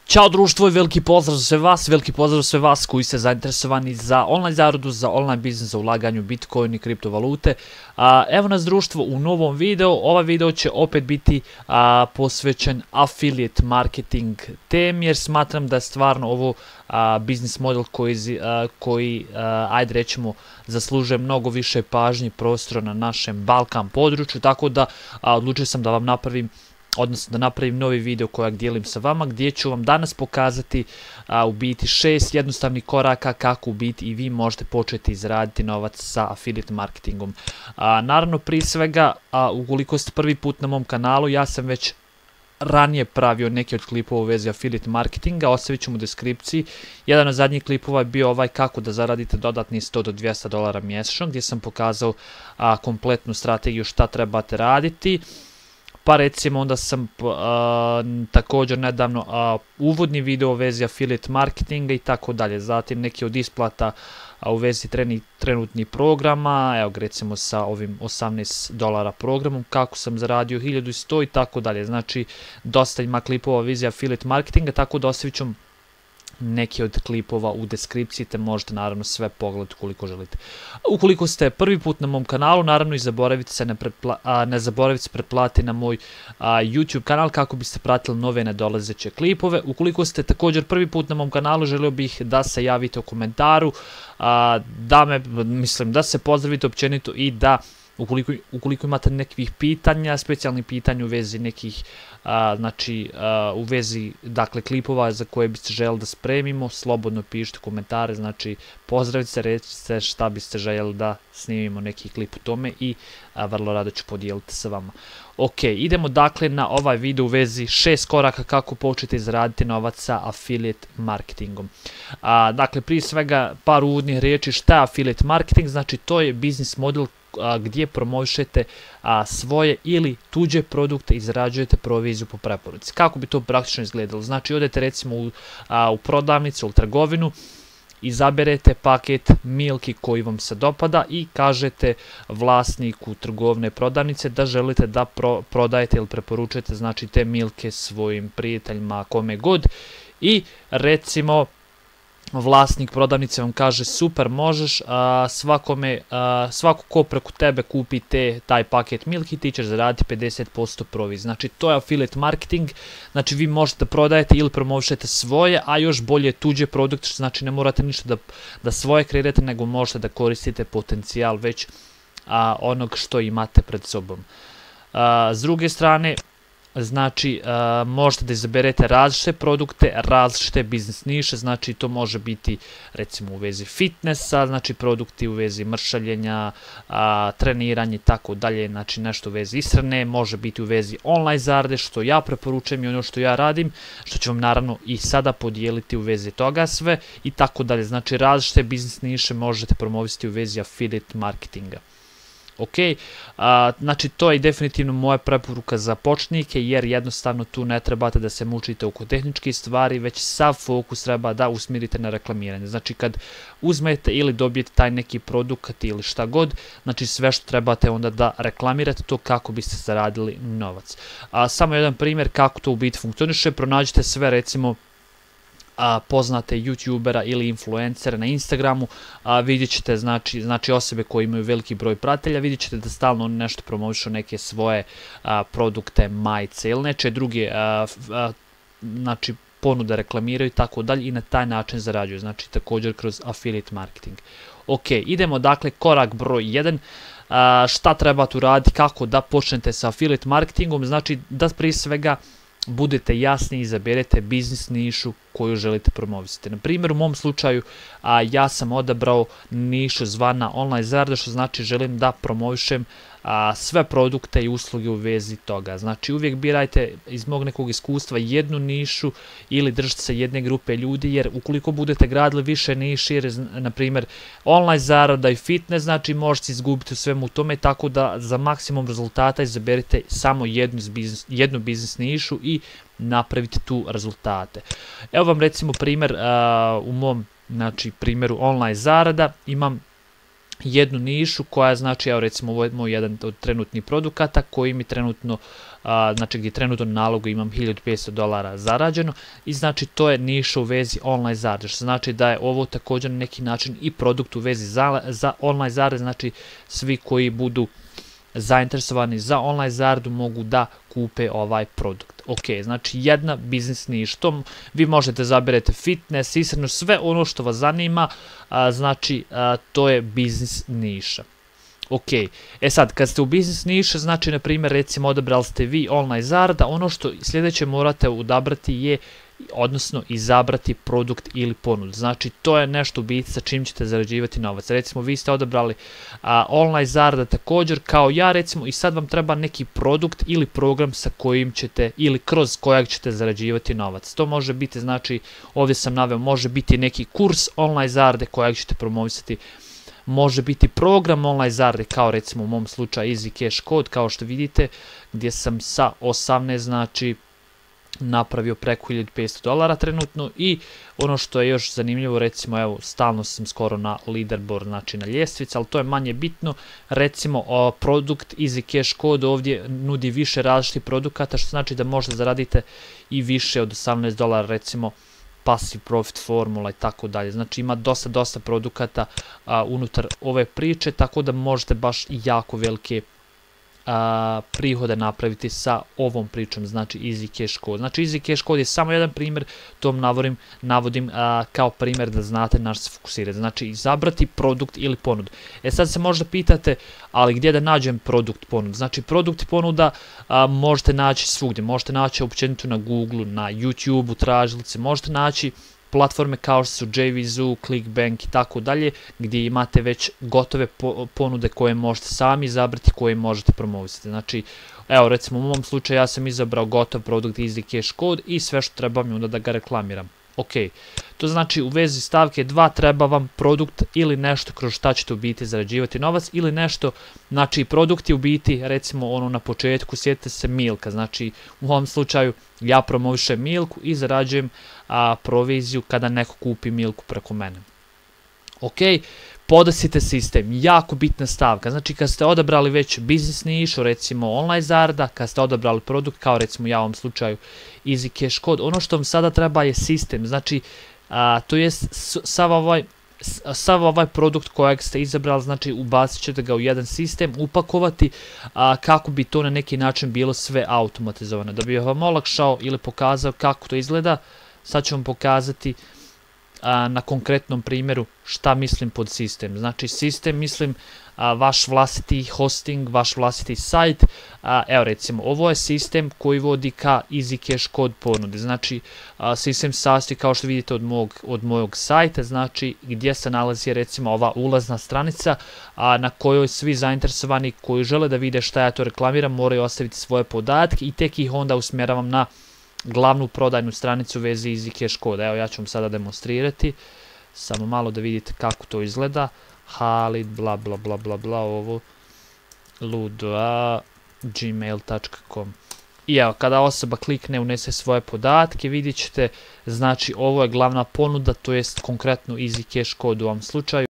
Ćao društvo i veliki pozdrav za sve vas koji ste zainteresovani za online zaradu, za online biznis, za ulaganje u Bitcoin i kriptovalute. Evo nas društvo u novom videu. Ovaj video će opet biti posvećen affiliate marketing temi, jer smatram da je stvarno ovo biznis model koji ajde rećemo, zaslužuje mnogo više pažnje i prostora na našem Balkan području, tako da odlučio sam da vam napravim novi video kojeg dijelim sa vama, gdje ću vam danas pokazati u biti 6 jednostavnih koraka kako u biti i vi možete početi izraditi novac sa affiliate marketingom. Naravno, prije svega, ukoliko ste prvi put na mom kanalu, ja sam već ranije pravio neki od klipova u vezi affiliate marketinga, ostavit ću mu u deskripciji. Jedan od zadnjih klipova je bio ovaj kako da zaradite dodatni $100 do $200 mjesečno, gdje sam pokazao kompletnu strategiju šta trebate raditi. Pa recimo onda sam također nedavno uvodni video u vezi affiliate marketinga i tako dalje. Zatim neki od isplata u vezi trenutnih programa, evo recimo sa ovim $18 programom, kako sam zaradio 1100 i tako dalje. Znači dosta ima klipova u vezi affiliate marketinga, tako da ostavit ću neki od klipova u deskripciji, te možete naravno sve pogledati ukoliko želite. Ukoliko ste prvi put na mom kanalu, naravno i ne zaboravite se pretplatiti na moj YouTube kanal kako biste pratili nove nadolazeće klipove. Ukoliko ste također prvi put na mom kanalu, želio bih da se javite u komentaru, da se pozdravite općenito i da ukoliko imate nekih pitanja, specijalnih pitanja u vezi nekih, u vezi, dakle, klipova za koje biste željeli da spremimo, slobodno pišite komentare, znači pozdravite se, recite šta biste željeli da snimimo neki klip u tome i vrlo rado ću podijeliti sa vama. Ok, idemo dakle na ovaj video u vezi 6 koraka kako početi zaraditi novac sa affiliate marketingom. Dakle, prije svega par uvodnih riječi šta je affiliate marketing. Znači to je biznis model gdje promovišete svoje ili tuđe produkte i zarađujete proviziju po preporuci. Kako bi to praktično izgledalo? Znači odete recimo u prodavnicu ili trgovinu, izaberete paket milki koji vam se dopada i kažete vlasniku trgovine prodavnice da želite da prodajete ili preporučujete, znači, te milke svojim prijateljima, kome god, recimo vlasnik prodavnice vam kaže super, možeš, svako ko preko tebe kupi taj paket milki, ti ćeš zaraditi 50% provizije. Znači to je affiliate marketing. Znači vi možete da prodajete ili promovišete svoje, a još bolje tuđe produkte, znači ne morate ništa da svoje kreirate, nego možete da koristite potencijal već onog što imate pred sobom. S druge strane, znači možete da izaberete različite produkte, različite biznis niše, znači to može biti recimo u vezi fitnessa, znači produkti u vezi mršavljenja, treniranje i tako dalje, znači nešto u vezi ishrane, može biti u vezi online zarade, što ja preporučujem i ono što ja radim, što ću vam naravno i sada podijeliti u vezi toga sve i tako dalje. Znači različite biznis niše možete promovisati u vezi affiliate marketinga. Ok, znači to je definitivno moja preporuka za početnike, jer jednostavno tu ne trebate da se mučite oko tehničkih stvari, već sav fokus treba da usmjerite na reklamiranje. Znači kad uzmete ili dobijete taj neki produkt ili šta god, znači sve što trebate onda da reklamirate to kako biste zaradili novac. Samo jedan primjer kako to u biti funkcioniše, pronađite sve recimo poznate youtubera ili influencera na Instagramu, vidjet ćete znači osobe koje imaju veliki broj pratitelja, vidjet ćete da stalno oni nešto promovišu, neke svoje produkte, majice ili neče druge znači ponude reklamiraju i tako dalje i na taj način zarađuju, znači također kroz affiliate marketing. Ok, idemo dakle korak broj 1. Šta trebate uraditi, kako da počnete sa affiliate marketingom? Znači da prije svega budete jasni i izaberete biznis nišu koju želite promovisati. Na primjer, u mom slučaju ja sam odabrao nišu zvana online zarada, što znači želim da promovišem sve produkte i usluge u vezi toga. Znači uvijek birajte iz mog nekog iskustva jednu nišu ili držite se jedne grupe ljudi, jer ukoliko budete gradili više niši, jer na primjer online zarada i fitness, znači možete izgubiti u svemu tome, tako da za maksimum rezultata izaberite samo jednu biznis nišu i napraviti tu rezultate. Evo vam recimo primjer u mom primjeru online zarada. Imam jednu nišu koja znači, evo recimo ovo je moj jedan od trenutnih produkata koji mi trenutno, znači gdje trenutno na nalogu imam $1500 zarađeno i znači to je niša u vezi online zarade, što znači da je ovo također na neki način i produkt u vezi za online zarade, znači svi koji budu zainteresovani za online zaradu mogu da kupe ovaj produkt. Ok, znači jedna biznis niša, to vi možete zaberete fitness, ishranu, sve ono što vas zanima, znači to je biznis niša. Ok, sad kad ste u biznis niša, znači na primjer recimo odabrali ste vi online zarada, ono što sljedeće morate odabrati je, odnosno izabrati produkt ili ponudu. Znači to je nešto u biti sa čim ćete zarađivati novac. Recimo vi ste odabrali online zarada također kao ja recimo i sad vam treba neki produkt ili program sa kojim ćete ili kroz kojeg ćete zarađivati novac. To može biti, znači ovdje sam naveo, može biti neki kurs online zarade kojeg ćete promovisati, može biti program online zarade kao recimo u mom slučaju Easy Cash Code kao što vidite gdje sam sa 18 znači napravio preko $1500 trenutno i ono što je još zanimljivo, recimo evo stalno sam skoro na leaderboard, znači na ljestvici, ali to je manje bitno, recimo produkt Easy Cash Code ovdje nudi više različitih produkata, što znači da možete zaradite i više od $18, recimo passive profit formula i tako dalje, znači ima dosta produkata unutar ove priče, tako da možete baš jako velike prihode napraviti sa ovom pričom, znači Easy Cash Code. Znači Easy Cash Code je samo jedan primjer, to navodim kao primjer da znate na što se fokusirati. Znači izabrati produkt ili ponudu. Sad se možda pitate, ali gdje da nađem produkt ponudu? Znači produkt i ponuda možete naći svugdje, možete naći općenito na Google, na YouTube, u tražilici, možete naći platforme kao što su JVZoo, Clickbank i tako dalje, gdje imate već gotove ponude koje možete sami izabrati, koje možete promovisati. Znači, evo recimo u mom slučaju ja sam izabrao gotov produkt Easy Cash Code i sve što treba mi onda da ga reklamiram. Ok, to znači u vezi stavke 2 treba vam produkt ili nešto kroz šta ćete u biti zarađivati novac ili nešto, znači produkt je u biti recimo ono na početku, sjetite se Milka, znači u ovom slučaju ja promovišem Milku i zarađujem proviziju kada neko kupi Milku preko mene. Ok, podesite sistem, jako bitna stavka, znači kad ste odabrali već biznis nišu, recimo online zarada, kad ste odabrali produkt, kao recimo ja u ovom slučaju Easy Cash Code, ono što vam sada treba je sistem, znači to je sav ovaj produkt kojeg ste izabrali, znači ubacit ćete ga u jedan sistem, upakovati kako bi to na neki način bilo sve automatizovano. Da bi vam olakšao ili pokazao kako to izgleda, sad ću vam pokazati na konkretnom primjeru šta mislim pod sistem. Znači sistem mislim vaš vlastiti hosting, vaš vlastiti sajt. Evo recimo ovo je sistem koji vodi ka Easy Cash Code ponudi. Znači sistem sastoji kao što vidite od mojeg sajta, znači gdje se nalazi recimo ova ulazna stranica na kojoj svi zainteresovani koji žele da vide šta ja to reklamiram moraju ostaviti svoje podatke i tek ih onda usmjeravam na glavnu prodajnu stranicu u vezi Easy Cash Code. Evo ja ću vam sada demonstrirati, samo malo da vidite kako to izgleda. Halid bla bla bla bla bla, ovo ludo gmail.com. I evo kada osoba klikne, unese svoje podatke, vidjet ćete, znači ovo je glavna ponuda, to jest konkretno Easy Cash Code u ovom slučaju.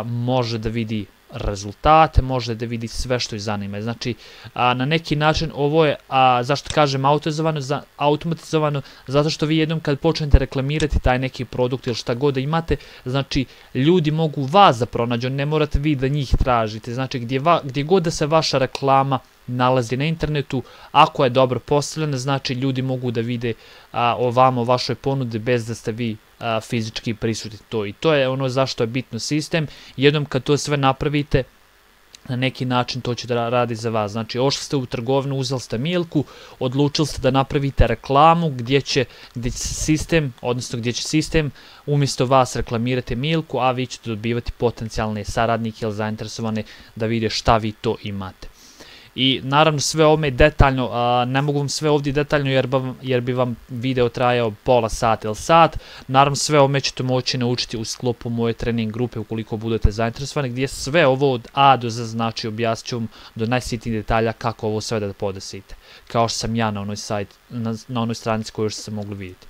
Može da vidi rezultate, može da vidi sve što ih zanima. Znači, na neki način ovo je, zašto kažem automatizovano, zato što vi jednom kad počnete reklamirati taj neki produkt ili šta god da imate, znači ljudi mogu vas da pronađu, ne morate vi da njih tražite. Znači, gdje god da se vaša reklama nalazi na internetu, ako je dobro postavljena, znači ljudi mogu da vide o vama, o vašoj ponudi bez da ste vi fizički prisutni to. I to je ono zašto je bitno sistem. Jednom kad to sve napravite, na neki način to će da radi za vas. Znači, ošli ste u trgovinu, uzeli ste Milku, odlučili ste da napravite reklamu gdje će sistem umjesto vas reklamirati Milku, a vi ćete dobivati potencijalne saradnike ili zainteresovane da vide šta vi to imate. I naravno sve ovome detaljno, ne mogu vam sve ovdje detaljno jer bi vam video trajao pola sata ili sat. Naravno sve ovome ćete moći naučiti u sklopu moje trening grupe ukoliko budete zainteresovani, gdje sve ovo od A do Z, znači objasnit ću vam do najsitnijih detalja kako ovo sve da podesite. Kao što sam ja na onoj stranici koju ste mogli vidjeti.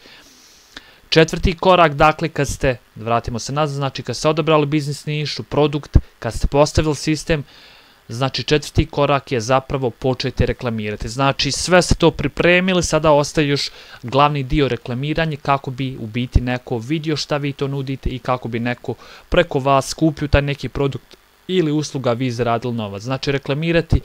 Četvrti korak, dakle, kad ste, vratimo se nazad, znači kad ste odabrali biznis nišu, produkt, kad ste postavili sistem, znači četvrti korak je zapravo početi reklamirati. Znači sve ste to pripremili, sada ostaje još glavni dio reklamiranje kako bi u biti neko vidio šta vi to nudite i kako bi neko preko vas kupio taj neki produkt ili usluga, vi zaradili novac. Znači reklamirati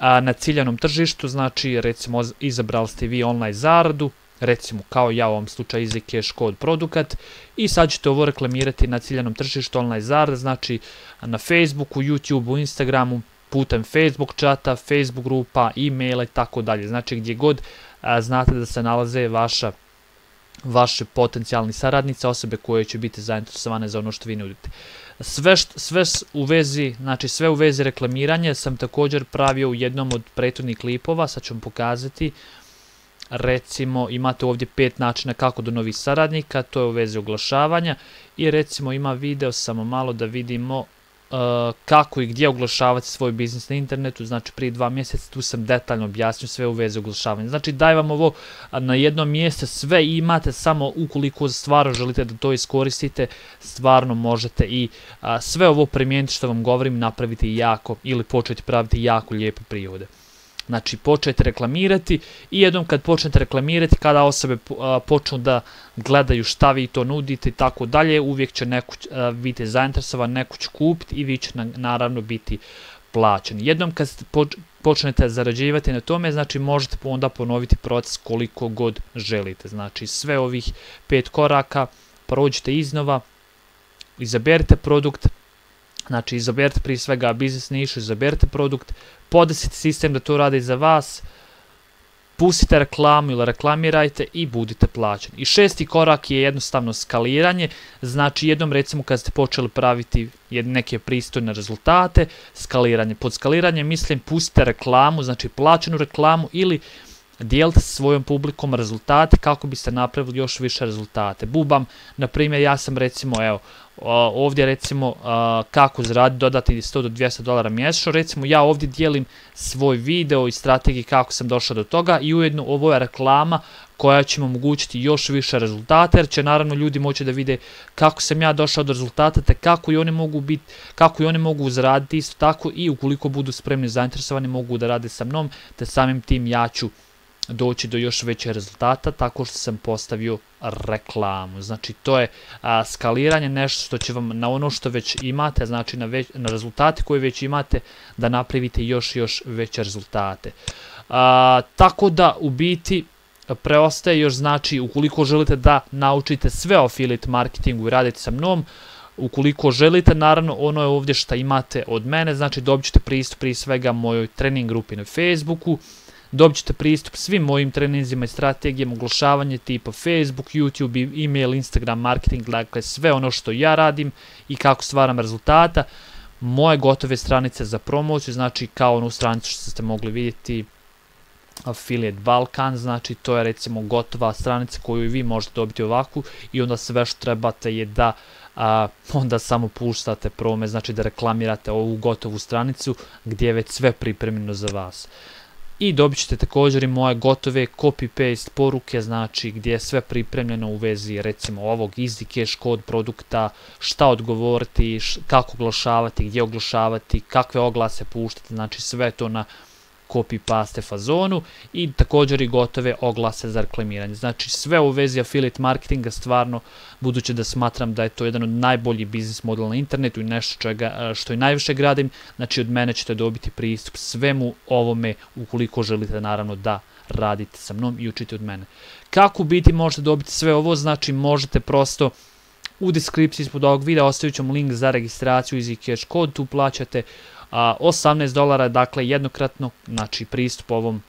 na ciljanom tržištu, znači recimo izabrali ste vi online zaradu, recimo kao ja u ovom slučaju Easy Cash kod produkat i sad ćete ovo reklamirati na ciljanom tržištu online zarada, znači na Facebooku, YouTubeu, Instagramu, putem Facebook čata, Facebook grupa, e-maila i tako dalje. Znači gdje god znate da se nalaze vaše potencijalni saradnici, osobe koje će biti zainteresovane za ono što vi nudite. Sve u vezi, znači sve u vezi reklamiranja sam također pravio u jednom od prethodnih klipova, sad ću vam pokazati. Recimo imate ovdje 5 načina kako do novih saradnika, to je u vezi oglašavanja i recimo ima video, samo malo da vidimo kako i gdje oglašavati svoj biznis na internetu, znači prije 2 mjeseca tu sam detaljno objasnio sve u vezi oglašavanja. Znači daj vam ovo na jednom mjestu, sve imate, samo ukoliko stvarno želite da to iskoristite, stvarno možete i sve ovo primijeniti što vam govorim, napraviti jako ili početi praviti jako lijepe prihode. Znači počnete reklamirati i jednom kad počnete reklamirati, kada osobe počnu da gledaju šta vi to nudite i tako dalje, uvijek će neko biti zainteresovan, neko će kupiti i vi će naravno biti plaćeni. Jednom kad počnete zarađivati na tome, znači možete onda ponoviti proces koliko god želite. Znači sve ovih 5 koraka prođite iznova, izaberite produkt, znači izaberite prije svega biznis nišu, izaberite produkt, podesite sistem da to radi za vas, pustite reklamu ili reklamirajte i budite plaćeni. I 6. korak je jednostavno skaliranje, znači jednom recimo kad ste počeli praviti neke pristojne rezultate, skaliranje. Pod skaliranje mislim pustite reklamu, znači plaćenu reklamu ili dijelite sa svojom publikom rezultate kako biste napravili još više rezultate. Bubam, na primjer, ja sam recimo, evo, ovdje recimo kako zaraditi dodati $100 do $200 mjesečno, recimo ja ovdje dijelim svoj video i strategiju kako sam došao do toga i ujedno ovo je reklama koja će mi omogućiti još više rezultata, jer će naravno ljudi moći da vide kako sam ja došao do rezultata, te kako i oni mogu zaraditi isto tako i ukoliko budu spremni zainteresovani mogu da rade sa mnom, te samim tim ja ću doći do još većeg rezultata tako što sam postavio reklamu. Znači to je skaliranje, nešto što će vam na ono što već imate, znači na rezultate koje već imate, da napravite još veće rezultate. Tako da u biti preostaje još, znači ukoliko želite da naučite sve o affiliate marketingu i radite sa mnom, ukoliko želite, naravno ono je ovdje što imate od mene, znači dobit ćete pristup prije svega mojoj trening grupi na Facebooku, dobit ćete pristup svim mojim treninzima i strategijama oglašavanja tipa Facebook, YouTube, email, Instagram, marketing, dakle sve ono što ja radim i kako stvaram rezultata. Moje gotove stranice za promociju, znači kao onu stranicu što ste mogli vidjeti, Affiliate Balkan, znači to je recimo gotova stranica koju vi možete dobiti ovakvu i onda sve što trebate je da onda samo puštate prome, znači da reklamirate ovu gotovu stranicu gdje je već sve pripremljeno za vas. I dobit ćete također i moje gotove copy-paste poruke, znači gdje je sve pripremljeno u vezi recimo ovog Easy Cash kod produkta, šta odgovoriti, kako oglašavati, gdje oglašavati, kakve oglase puštati, znači sve to na copy-paste fazonu i također i gotove oglase za reklamiranje. Znači sve u vezi affiliate marketinga, stvarno, budući da smatram da je to jedan od najboljih biznis modela na internetu i nešto što i najviše gradim, znači od mene ćete dobiti pristup svemu ovome ukoliko želite naravno da radite sa mnom i učite od mene. Kako biti možete dobiti sve ovo, znači možete prosto u deskripciji ispod ovog videa ostavit ću vam link za registraciju Easy Cash kod, tu plaćate $18, dakle jednokratno, znači pristup ovom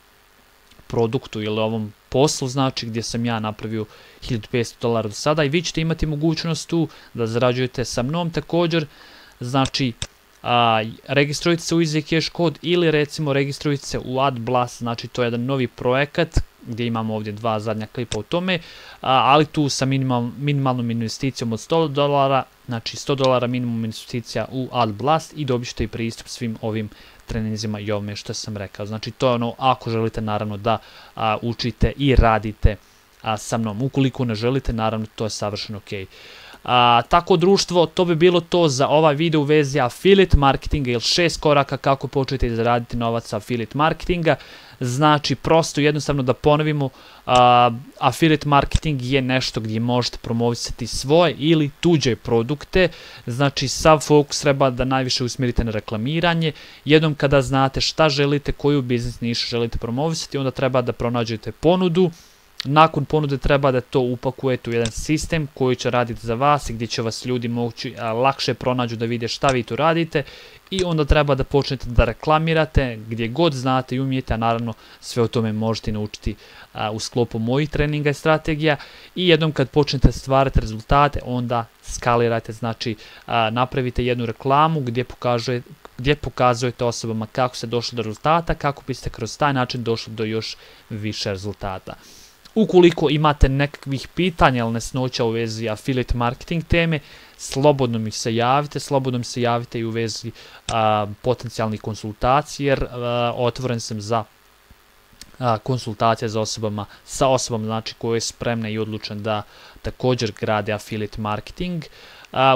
produktu ili ovom poslu, znači gdje sam ja napravio $1500 do sada i vi ćete imati mogućnost tu da zarađujete sa mnom također, znači registrujte se u Easy Cash kod ili recimo registrujte se u AdBlast, znači to je jedan novi projekat gdje imamo ovdje 2 zadnja klipa o tome, ali tu sa minimalnom investicijom od $100, znači $100 minimum investicija u AdBlast i dobit ćete i pristup svim ovim treninzima i ovome što sam rekao. Znači to je ono ako želite naravno da učite i radite sa mnom. Ukoliko ne želite, naravno to je savršeno ok. Tako društvo, to bi bilo to za ovaj video u vezi affiliate marketinga ili 6 koraka kako početi zaraditi novac sa affiliate marketinga. Znači, prosto jednostavno da ponovimo, affiliate marketing je nešto gdje možete promovisati svoje ili tuđe produkte. Znači, sav fokus treba da najviše usmjerite na reklamiranje. Jednom kada znate šta želite, koju biznis nišu želite promovisati, onda treba da pronađete ponudu. Nakon ponude treba da to upakujete u jedan sistem koji će raditi za vas i gdje će vas ljudi moći lakše pronađu da vide šta vi tu radite, i onda treba da počnete da reklamirate gdje god znate i umijete, a naravno sve o tome možete naučiti u sklopu mojih treninga i strategija. I jednom kad počnete stvarati rezultate, onda skalirajte, znači napravite jednu reklamu gdje pokazujete osobama kako ste došli do rezultata, kako biste kroz taj način došli do još više rezultata. Ukoliko imate nekakvih pitanja ili nesnoća u vezi affiliate marketing teme, slobodno mi se javite i u vezi potencijalnih konsultacija, jer otvoren sam za konsultacije sa osobama znači koje je spremna i odlučna da također grade affiliate marketing.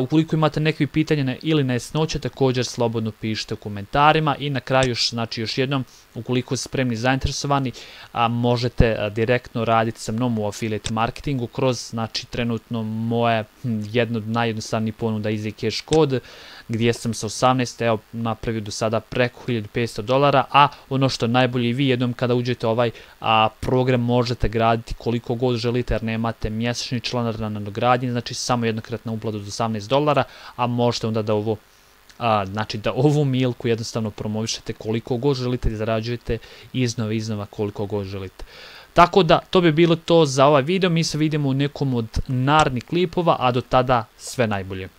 Ukoliko imate nekakve pitanja ili nejasnoće, također slobodno pišite u komentarima. I na kraju još jednom, ukoliko ste spremni i zainteresovani, možete direktno raditi sa mnom u affiliate marketingu kroz, znači, trenutno moje jedno od najjednostavnijih ponuda Easy Cash kod, gdje sam sa 18 napravio do sada preko $1500, a ono što je najbolje, vi jednom kada uđete ovaj program možete graditi koliko god želite, jer nemate mjesečni članarina na nadogradnji, znači samo jednokratna uplata do $18, a možete onda da ovu milku jednostavno promovišete koliko god želite i zarađujete iznova koliko god želite. Tako da, to bi bilo to za ovaj video, mi se vidimo u nekom od narednih klipova, a do tada sve najbolje.